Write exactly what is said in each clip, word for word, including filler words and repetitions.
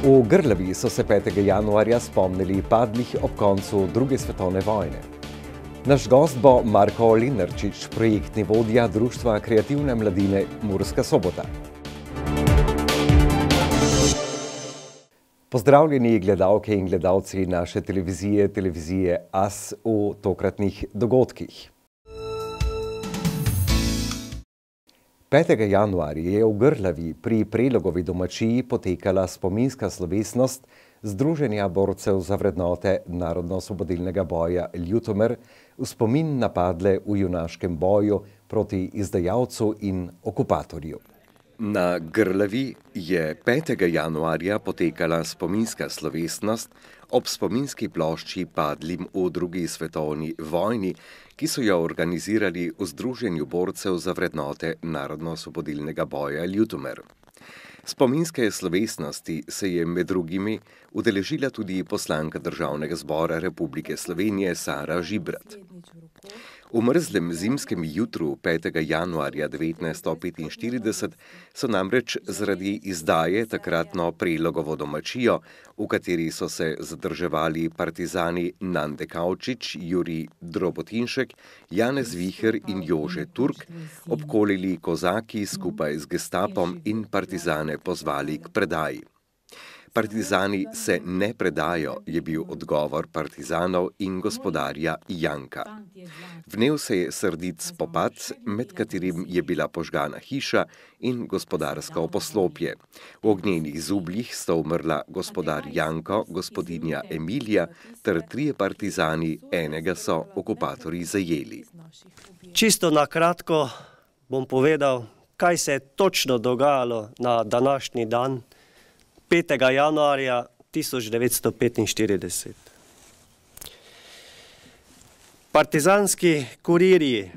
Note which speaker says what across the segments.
Speaker 1: V Grlavi so se petega januarja spomnili padlih ob koncu druge svetovne vojne. Naš gost bo Marko Lenarčič, projektni vodja Društva kreativne mladine Murska Sobota. Pozdravljeni gledalke in gledalci naše televizije, televizije A S v tokratnih dogodkih. petega januarja je v Grlavi pri Prelogovi domačiji potekala spominska slovesnost Združenja borcev za vrednote narodno-osvobodilnega boja Ljutomer v spomin na padle v junaškem boju proti izdajalcu in okupatorju. Na Grlavi je petega januarja potekala spominska slovesnost ob spominski plošči padlim v drugi svetovni vojni, ki so jo organizirali v Združenju borcev za vrednote narodno-osvobodilnega boja Ljutomer. Spominske slovesnosti se je med drugimi udeležila tudi poslanka Državnega zbora Republike Slovenije Sara Žibrat. V mrzlem zimskem jutru petega januarja devetnajststo petinštirideset so namreč zaradi izdaje takratno Prelogovo domačijo, v kateri so se zadrževali partizani Nande Kavčič, Jurij Drobotinšek, Janez Viher in Jože Turk, obkolili kozaki skupaj z gestapom in partizane pozvali k predaji. Partizani se ne predajo, je bil odgovor partizanov in gospodarja Janka. Vnel se je srdit spopad, med katerim je bila požgana hiša in gospodarsko poslopje. V ognjenih zubljih sta umrla gospodar Janko, gospodinja Emilija ter trije partizani, enega so okupatorji zajeli.
Speaker 2: Čisto na kratko bom povedal, kaj se je točno dogajalo na današnji dan, petega januarja tisoč devetsto petinštirideset. Partizanski kurirji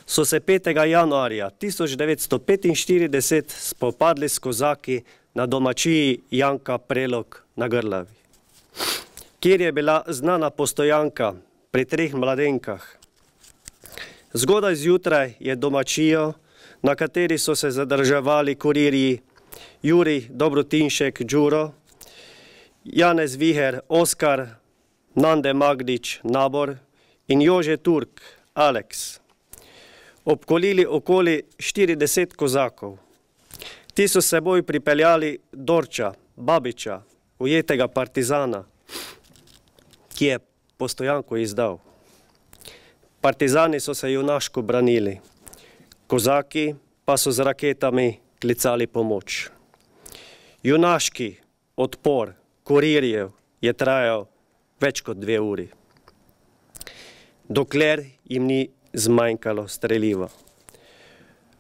Speaker 2: so se petega januarja tisoč devetsto petinštirideset spopadli s kozaki na domačiji Janka Prelog na Grlavi, kjer je bila znana postojanka pri treh mladenkah. Zgodaj zjutraj je domačijo, na kateri so se zadrževali kurirji Jurij Drobotinšek Đuro, Janez Viher Oskar, Nande Magdič Nabor in Jože Turk Aleks, obkolili okoli štirideset kozakov. Ti so seboj pripeljali Dorča, Babiča, ujetega partizana, ki je postojanko izdal. Partizani so se junaško branili, kozaki pa so z raketami klicali pomoč. Junaški odpor kurirjev je trajal več kot dve uri, dokler jim ni zmanjkalo streliva.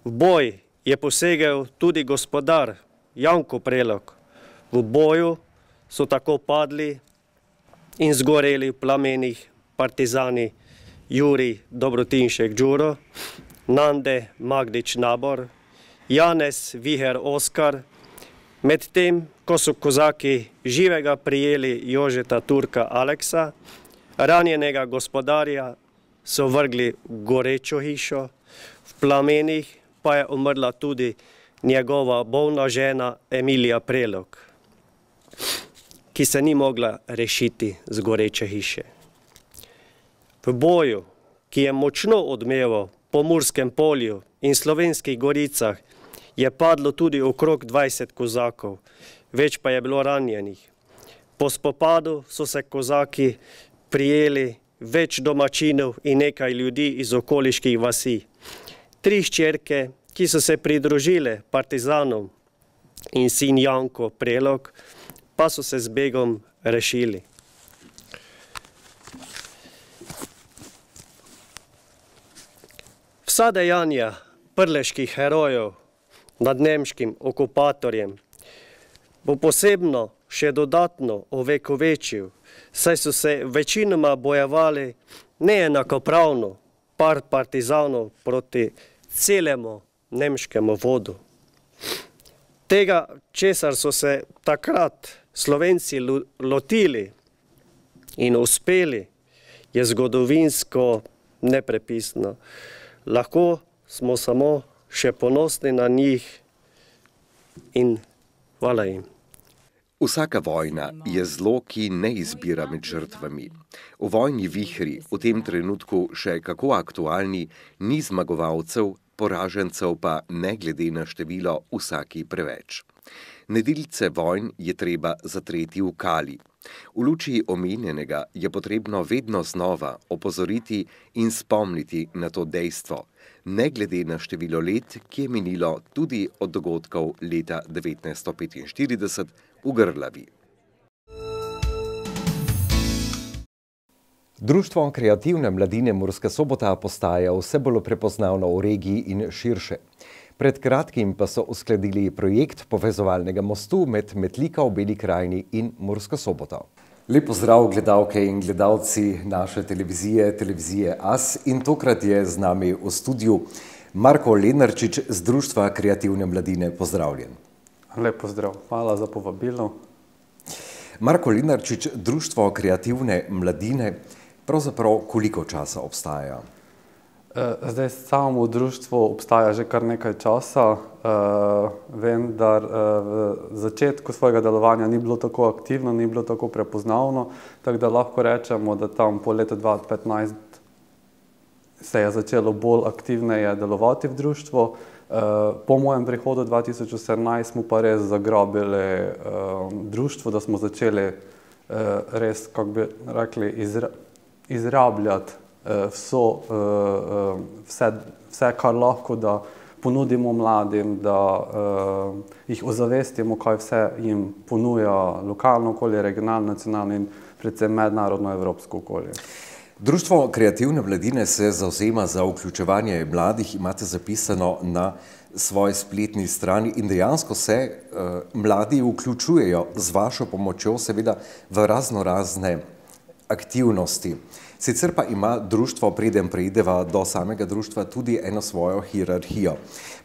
Speaker 2: V boj je posegel tudi gospodar Janko Prelog. V boju so tako padli in zgoreli v plamenih partizani Jurij Drobotinšek Đuro, Nande Magdič Nabor, Janez Viher Oskar, medtem ko so kozaki živega prijeli Jožeta Turka Aleksa, ranjenega gospodarja so vrgli v gorečo hišo, v plamenih pa je umrla tudi njegova bolna žena Emilija Prelog, ki se ni mogla rešiti z goreče hiše. V boju, ki je močno odmeval po Murskem polju in Slovenskih goricah, je padlo tudi okrog dvajset kozakov, več pa je bilo ranjenih. Po spopadu so se kozaki prijeli več domačinov in nekaj ljudi iz okoliških vasi. Tri hčerke, ki so se pridružile partizanom, in sin Janko Prelog, pa so se z begom rešili. Vsa dejanja prleških herojev nad nemškim okupatorjem bo posebno še dodatno ovekovečil, saj so se večinoma bojevali neenakopravno par partizanov proti celemu nemškemu vodu. Tega, česar so se takrat Slovenci lotili in uspeli, je zgodovinsko neprepisno. Lahko smo samo še ponosni na njih in hvala jim.
Speaker 1: Vsaka vojna je zlo, ki ne izbira med žrtvami. V vojni vihri, v tem trenutku še kako aktualni, ni zmagovalcev, poražencev pa ne glede na število vsaki preveč. Nedilce vojn je treba zatreti v kali. V luči omenjenega je potrebno vedno znova opozoriti in spomniti na to dejstvo, ne glede na število let, ki je minilo tudi od dogodkov leta devetnajststo petinštirideset v Grlavi. Društvo kreativne mladine Murska Sobota postaja vse bolj prepoznavno v regiji in širše. Pred kratkim pa so uskladili projekt povezovalnega mostu med Metlika v Beli krajini in Mursko Soboto. Lep pozdrav gledalke in gledalci naše televizije, televizije A S, in tokrat je z nami v studiu Marko Lenarčič z Društva kreativne mladine. Pozdravljen.
Speaker 3: Lep pozdrav, hvala za povabilo.
Speaker 1: Marko Lenarčič, Društvo kreativne mladine, pravzaprav koliko časa obstaja?
Speaker 3: Zdaj, samo društvo obstaja že kar nekaj časa, vendar v začetku svojega delovanja ni bilo tako aktivno, ni bilo tako prepoznavno, tako da lahko rečemo, da tam po letu dva tisoč petnajst se je začelo bolj aktivneje delovati v društvo. Po mojem prihodu dva tisoč osemnajst smo pa res zagrabili društvo, da smo začeli res, kako bi rekli, izrabljati Vso, vse, vse, kar lahko, da ponudimo mladim, da uh, jih ozavestimo, kaj vse jim ponuja lokalno okolje, regionalno, nacionalno in predvsem mednarodno evropsko okolje.
Speaker 1: Društvo kreativne mladine se zavzema za vključevanje mladih, imate zapisano na svoji spletni strani, in dejansko se uh, mladi vključujejo z vašo pomočjo, seveda v razno razne aktivnosti. Sicer pa ima društvo, preden preideva do samega društva, tudi eno svojo hierarhijo.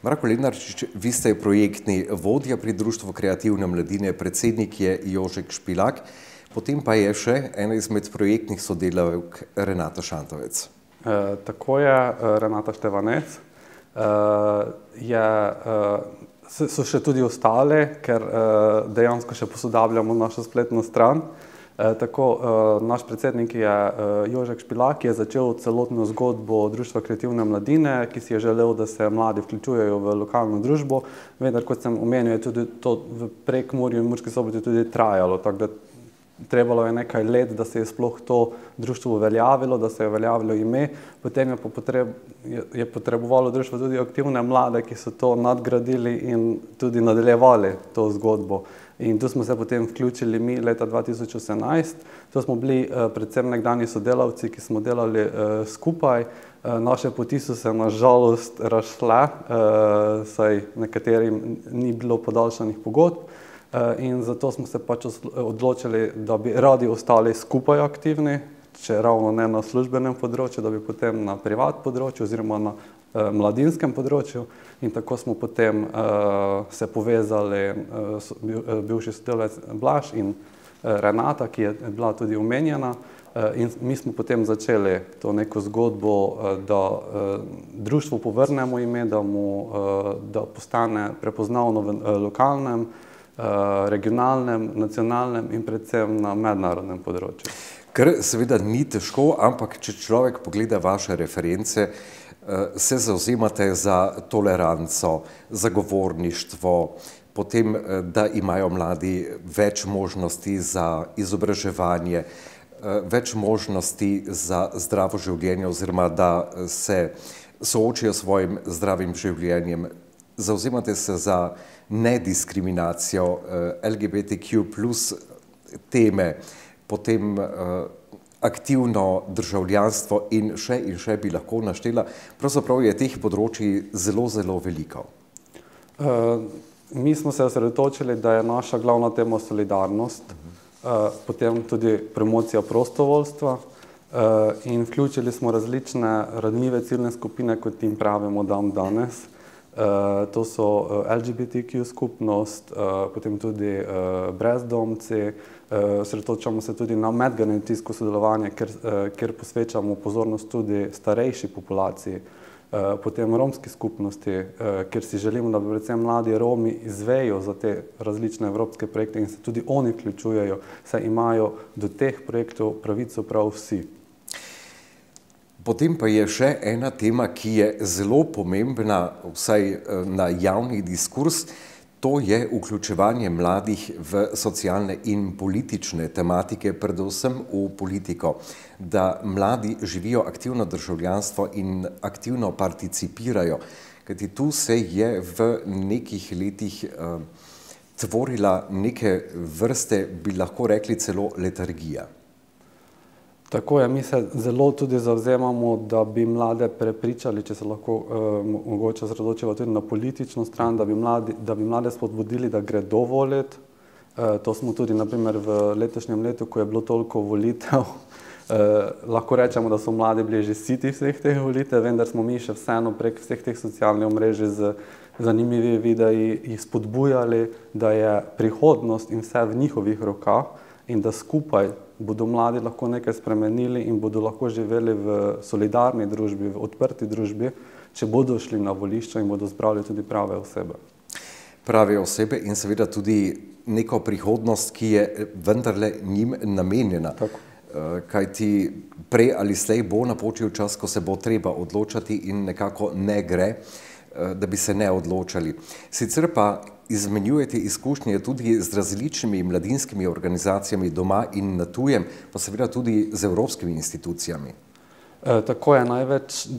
Speaker 1: Marko Lenarčič, vi ste projektni vodja pri Društvu kreativne mladine, predsednik je Jožek Špilak, potem pa je še ena izmed projektnih sodelavk Renata Šantovec.
Speaker 3: E, tako je, Renata Števanec. E, je, e, so še tudi ostale, ker e, dejansko še posodabljamo našo spletno stran. E, tako, e, naš predsednik je e, Jožek Špilak, ki je začel celotno zgodbo Društva kreativne mladine, ki si je želel, da se mladi vključujejo v lokalno družbo, vendar, kot sem omenil, je tudi to v Prekmurju in Murski Soboti tudi trajalo, tako da trebalo je nekaj let, da se je sploh to društvo uveljavilo, da se je uveljavilo ime, potem je, po potreb, je, je potrebovalo društvo tudi aktivne mlade, ki so to nadgradili in tudi nadaljevali to zgodbo. In tu smo se potem vključili mi leta dva tisoč osemnajst. To smo bili uh, predvsem nekdanji sodelavci, ki smo delali uh, skupaj. Uh, naše poti so se na žalost razšle, uh, saj nekaterim ni bilo podaljšanih pogodb. Uh, in zato smo se pač odločili, da bi radi ostali skupaj aktivni, če ravno ne na službenem področju, da bi potem na privat področju oziroma na uh, mladinskem področju. In tako smo potem uh, se povezali, uh, so, bil, uh, bivši sodelavec Blaž in uh, Renata, ki je bila tudi omenjena. Uh, in mi smo potem začeli to neko zgodbo, uh, da uh, društvu povrnemo ime, da, mu, uh, da postane prepoznavno v uh, lokalnem, uh, regionalnem, nacionalnem in predvsem na mednarodnem področju.
Speaker 1: Kar seveda ni težko, ampak če človek pogleda vaše reference, se zavzemate za toleranco, zagovorništvo, potem, da imajo mladi več možnosti za izobraževanje, več možnosti za zdravo življenje oziroma da se soočijo s svojim zdravim življenjem. Zavzemate se za nediskriminacijo, L G B T Q plus teme, potem aktivno državljanstvo in še in še bi lahko naštela. Pravzaprav je teh področji zelo, zelo veliko.
Speaker 3: Uh, mi smo se osredotočili, da je naša glavna tema solidarnost, uh, potem tudi promocija prostovoljstva uh, in vključili smo različne ranljive ciljne skupine, kot jim pravimo dan danes. Uh, to so L G B T Q skupnost, uh, potem tudi uh, brezdomci, osredotočamo uh, se tudi na medgeneracijsko sodelovanje, ker, uh, ker posvečamo pozornost tudi starejši populaciji. potem romski skupnosti, kjer si želimo, da predvsem mladi Romi izvejo za te različne evropske projekte in se tudi oni vključujejo, saj imajo do teh projektov pravico prav vsi.
Speaker 1: Potem pa je še ena tema, ki je zelo pomembna, vsaj na javni diskurs, to je vključevanje mladih v socialne in politične tematike, predvsem v politiko, da mladi živijo aktivno državljanstvo in aktivno participirajo. Kajti tu se je v nekih letih uh, tvorila neke vrste, bi lahko rekli celo letargija.
Speaker 3: Tako je, mi se zelo tudi zavzemamo, da bi mlade prepričali, če se lahko eh, mogoče osredotočimo tudi na politično stran, da bi, mladi, da bi mlade spodbudili, da gredo voliti. Eh, to smo tudi na primer v letošnjem letu, ko je bilo toliko volitev, eh, lahko rečemo, da so mladi bili že siti vseh teh volitev, vendar smo mi še vseeno prek vseh teh socialnih omrežij z zanimivi videi jih spodbujali, da je prihodnost in vse v njihovih rokah in da skupaj bodo mladi lahko nekaj spremenili in bodo lahko živeli v solidarni družbi, v odprti družbi, če bodo šli na volišča in bodo zbrali tudi prave osebe.
Speaker 1: Prave osebe in seveda tudi neko prihodnost, ki je vendarle njim namenjena.
Speaker 3: Tako.
Speaker 1: Kajti prej ali slej bo napočil čas, ko se bo treba odločati in nekako ne gre, da bi se ne odločali. Sicer pa izmenjujete izkušnje tudi z različnimi mladinskimi organizacijami doma in na tujem, pa seveda tudi z evropskimi institucijami.
Speaker 3: E, tako je, največ e,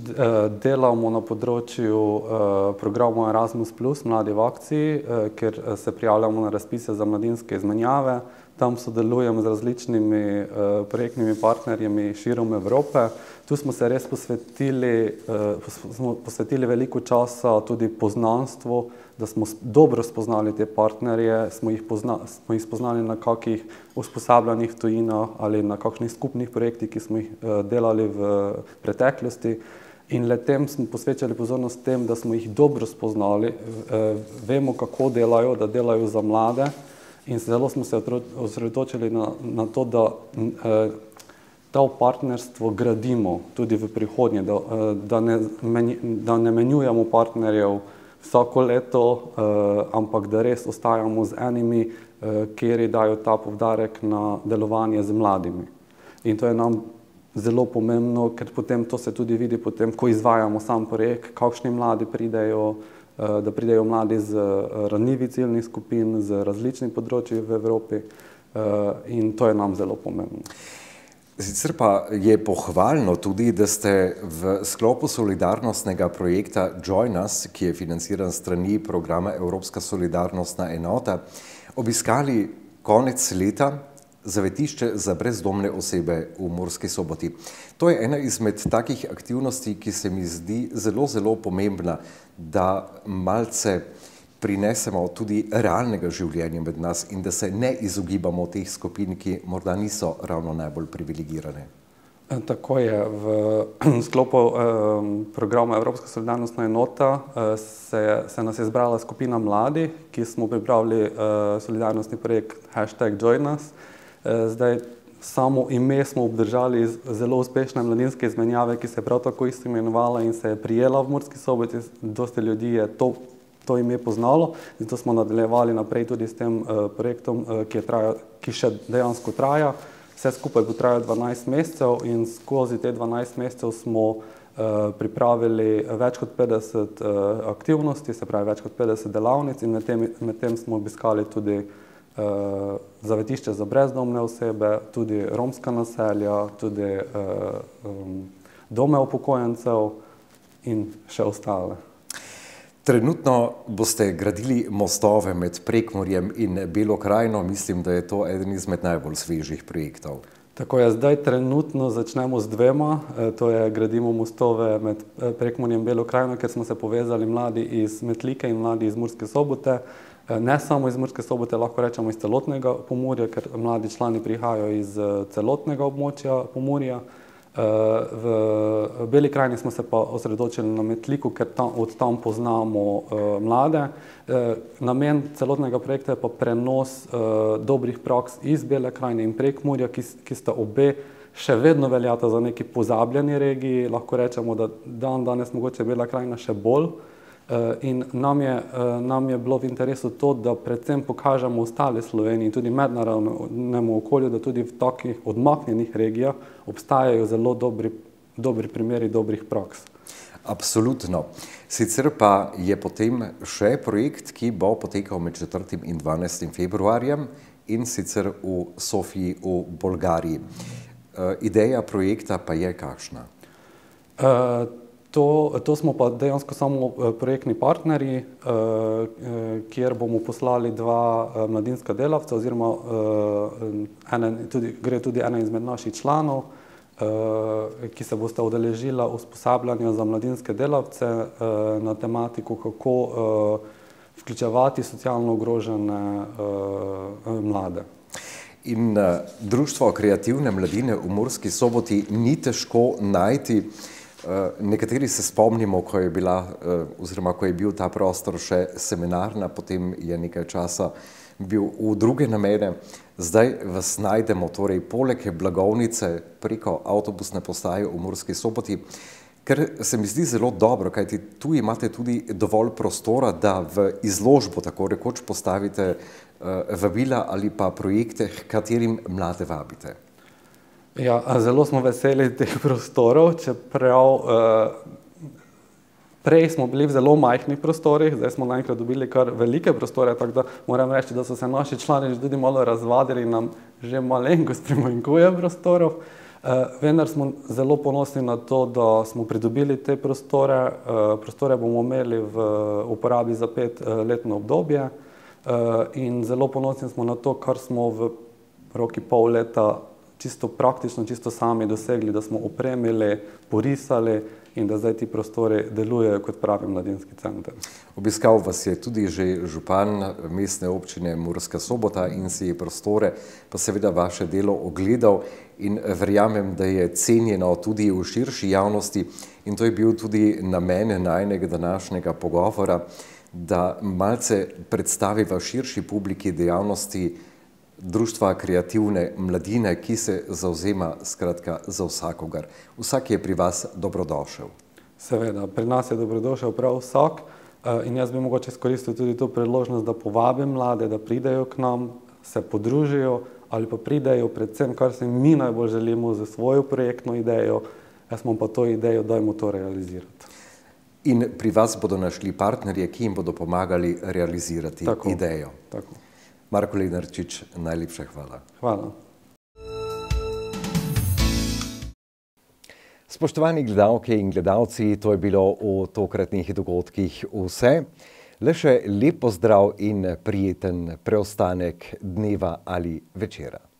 Speaker 3: delamo na področju e, programu Erasmus plus, Mladi v akciji, e, kjer se prijavljamo na razpise za mladinske izmenjave. Tam sodelujemo z različnimi eh, projektnimi partnerjami širom Evrope. Tu smo se res posvetili, eh, smo posvetili veliko časa tudi poznanstvu, da smo dobro spoznali te partnerje, smo jih, pozna, smo jih spoznali na kakih usposabljanjih v tujinah ali na kakšnih skupnih projektih, ki smo jih eh, delali v preteklosti. In le tem smo posvečali pozornost tem, da smo jih dobro spoznali, eh, vemo, kako delajo, da delajo za mlade. In zelo smo se osredotočili na, na to, da eh, to partnerstvo gradimo tudi v prihodnje, da, eh, da, ne, menj, da ne menjujemo partnerjev vsako leto, eh, ampak da res ostajamo z enimi, eh, kjer dajo ta poudarek na delovanje z mladimi. In to je nam zelo pomembno, ker potem to se tudi vidi, potem, ko izvajamo sam projekt, kakšni mladi pridejo, da pridejo mladi z ranljivih ciljnih skupin, z različnih področji v Evropi in to je nam zelo pomembno.
Speaker 1: Sicer pa je pohvalno tudi, da ste v sklopu solidarnostnega projekta Join Us, ki je financiran s strani programa Evropska solidarnostna enota, obiskali konec leta zavetišče za brezdomne osebe v Murski Soboti. To je ena izmed takih aktivnosti, ki se mi zdi zelo, zelo pomembna, da malce prinesemo tudi realnega življenja med nas in da se ne izogibamo teh skupin, ki morda niso ravno najbolj privilegirane.
Speaker 3: Tako je. V sklopu eh, programa Evropska solidarnostna enota eh, se, se nas je zbrala skupina mladih, ki smo pripravili eh, solidarnostni projekt hashtag Join Us. Eh, zdaj, samo ime smo obdržali iz zelo uspešne mladinske izmenjave, ki se je prav tako isto imenovala in se je prijela v Murski Soboti. Dosti ljudi je to, to ime poznalo, zato smo nadaljevali naprej tudi s tem uh, projektom, uh, ki, je traja, ki še dejansko traja. Vse skupaj bo trajalo dvanajst mesecev in skozi te dvanajst mesecev smo uh, pripravili več kot petdeset uh, aktivnosti, se pravi več kot petdeset delavnic in med tem, med tem smo obiskali tudi uh, zavetišče za brezdomne osebe, tudi romska naselja, tudi uh, um, dome upokojencev in še ostale.
Speaker 1: Trenutno boste gradili mostove med Prekmurjem in Belo krajino. Mislim, da je to eden izmed najbolj svežih projektov.
Speaker 3: Tako je, zdaj trenutno začnemo z dvema, to je gradimo mostove med Prekmurjem in Belo krajino, ker smo se povezali mladi iz Metlike in mladi iz Murske Sobote. Ne samo iz Murske Sobote, lahko rečemo iz celotnega Pomurja, ker mladi člani prihajajo iz celotnega območja Pomurja. V Beli krajini smo se pa osredotočili na Metliku, ker tam, od tam poznamo uh, mlade. Uh, namen celotnega projekta je pa prenos uh, dobrih praks iz Bele krajine in Prekmurja, ki, ki sta obe še vedno veljata za neki pozabljeni regiji, lahko rečemo, da dan danes mogoče Bela krajina še bolj. In nam je, nam je bilo v interesu to, da predvsem pokažemo ostale Sloveniji in tudi mednarodnemu okolju, da tudi v takih odmaknjenih regijah obstajajo zelo dobri, dobri primeri dobrih praks.
Speaker 1: Absolutno. Sicer pa je potem še projekt, ki bo potekal med četrtim in dvanajstim februarjem in sicer v Sofiji v Bolgariji. Ideja projekta pa je kakšna?
Speaker 3: Uh, To, to smo pa dejansko samo projektni partnerji, kjer bomo poslali dva mladinska delavca oziroma ene, tudi, gre tudi ena izmed naših članov, ki se bosta udeležila usposabljanja za mladinske delavce na tematiko, kako vključevati socialno ogrožene mlade.
Speaker 1: In Društvo kreativne mladine v Murski Soboti ni težko najti. Nekateri se spomnimo, ko je bila, oziroma ko je bil ta prostor še seminarna, potem je nekaj časa bil v druge namene. Zdaj vas najdemo torej poleg blagovnice preko avtobusne postaje v Murski Soboti, ker se mi zdi zelo dobro, kajti tu imate tudi dovolj prostora, da v izložbo tako rekoč postavite vabila ali pa projekte, h katerim mlade vabite.
Speaker 3: Ja, zelo smo veseli teh prostorov, čeprav eh, prej smo bili v zelo majhnih prostorih, zdaj smo naenkrat dobili kar velike prostore, tako da moram reči, da so se naši člani tudi malo razvadili, nam že malenkost primanjkuje prostorov. Eh, vendar smo zelo ponosni na to, da smo pridobili te prostore. Eh, prostore bomo imeli v uporabi za petletno obdobje eh, in zelo ponosni smo na to, kar smo v roki pol leta čisto praktično, čisto sami dosegli, da smo opremili, porisali in da zdaj ti prostori delujejo kot pravi mladinski center.
Speaker 1: Obiskal vas je tudi že župan mestne občine Murska Sobota in si je prostore, pa seveda vaše delo ogledal in verjamem, da je cenjeno tudi v širši javnosti in to je bil tudi namen najinega današnjega pogovora, da malce predstaviva širši publiki dejavnosti Društva kreativne mladine, ki se zavzema skratka za vsakogar. Vsak je pri vas dobrodošel.
Speaker 3: Seveda, pri nas je dobrodošel prav vsak in jaz bi mogoče izkoristil tudi to priložnost, da povabim mlade, da pridejo k nam, se podružijo ali pa pridejo predvsem, kar se mi najbolj želimo za svojo projektno idejo, jaz imam pa to idejo, dajmo to realizirati.
Speaker 1: In pri vas bodo našli partnerje, ki jim bodo pomagali realizirati
Speaker 3: tako,
Speaker 1: idejo.
Speaker 3: Tako.
Speaker 1: Marko Lenarčič, najlepša hvala.
Speaker 3: Hvala.
Speaker 1: Spoštovani gledalke in gledalci, to je bilo v tokratnih dogodkih vse. Le še lep pozdrav in prijeten preostanek dneva ali večera.